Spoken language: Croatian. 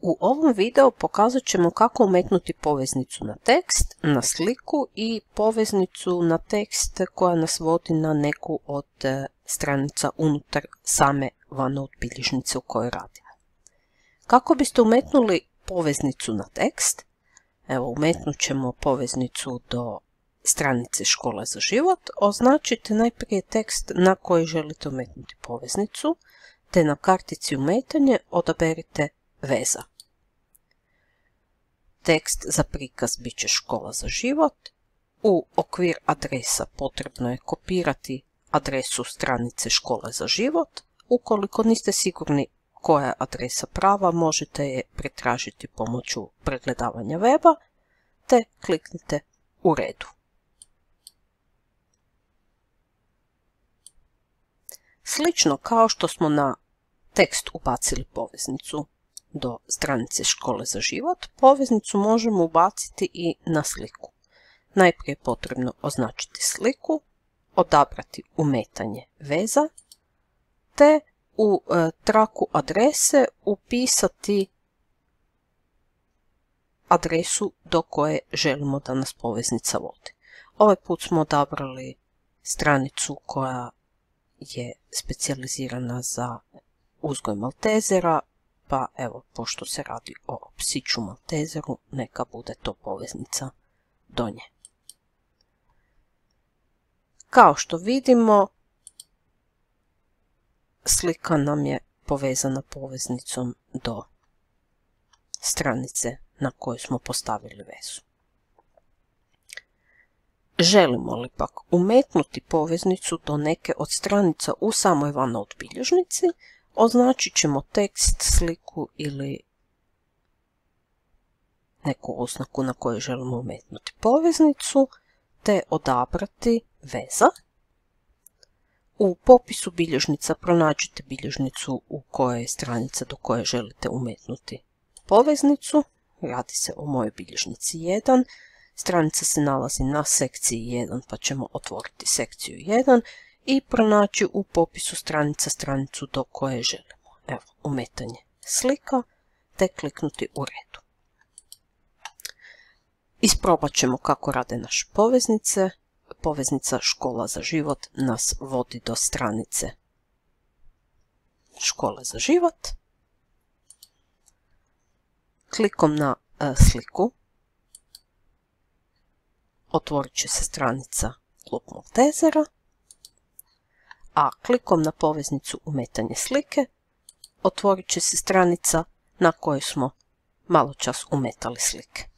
U ovom videu pokazat ćemo kako umetnuti poveznicu na tekst, na sliku i poveznicu na tekst koja nas vodi na neku od stranica unutar same OneNote bilježnice u kojoj radimo. Kako biste umetnuli poveznicu na tekst? Evo, umetnut ćemo poveznicu do stranice Škola za život. Označite najprije tekst na koji želite umetnuti poveznicu, te na kartici umetanje odaberite veza. Tekst za prikaz bit će Škola za život. U okvir adresa potrebno je kopirati adresu stranice Škole za život. Ukoliko niste sigurni koja je adresa prava, možete je pretražiti pomoću pregledavanja weba, te kliknite u redu. Slično kao što smo na tekst ubacili poveznicu do stranice Škole za život, poveznicu možemo ubaciti i na sliku. Najprije je potrebno označiti sliku, odabrati umetanje veza, te u traku adrese upisati adresu do koje želimo da nas poveznica vodi. Ovaj put smo odabrali stranicu koja je specijalizirana za uzgoj maltezera, pa evo, pošto se radi o psiću maltezeru, neka bude to poveznica do nje. Kao što vidimo, slika nam je povezana poveznicom do stranice na kojoj smo postavili vezu. Želimo li pak umetnuti poveznicu do neke od stranica u samoj OneNote bilježnici, označit ćemo tekst, sliku ili neku oznaku na kojoj želimo umetnuti poveznicu, te odabrati veza. U popisu bilježnica pronađite bilježnicu u kojoj je stranica do koje želite umetnuti poveznicu. Radi se o mojoj bilježnici 1. Stranica se nalazi na sekciji 1, pa ćemo otvoriti sekciju 1 i pronaći u popisu stranica stranicu do koje želimo. Evo, umetanje slika, te kliknuti u redu. Isprobat ćemo kako rade naše poveznice. Poveznica Škola za život nas vodi do stranice Škole za život. Klikom na sliku otvorit će se stranica Klub Maltezera, a klikom na poveznicu umetanje slike otvorit će se stranica na kojoj smo malo čas umetali slike.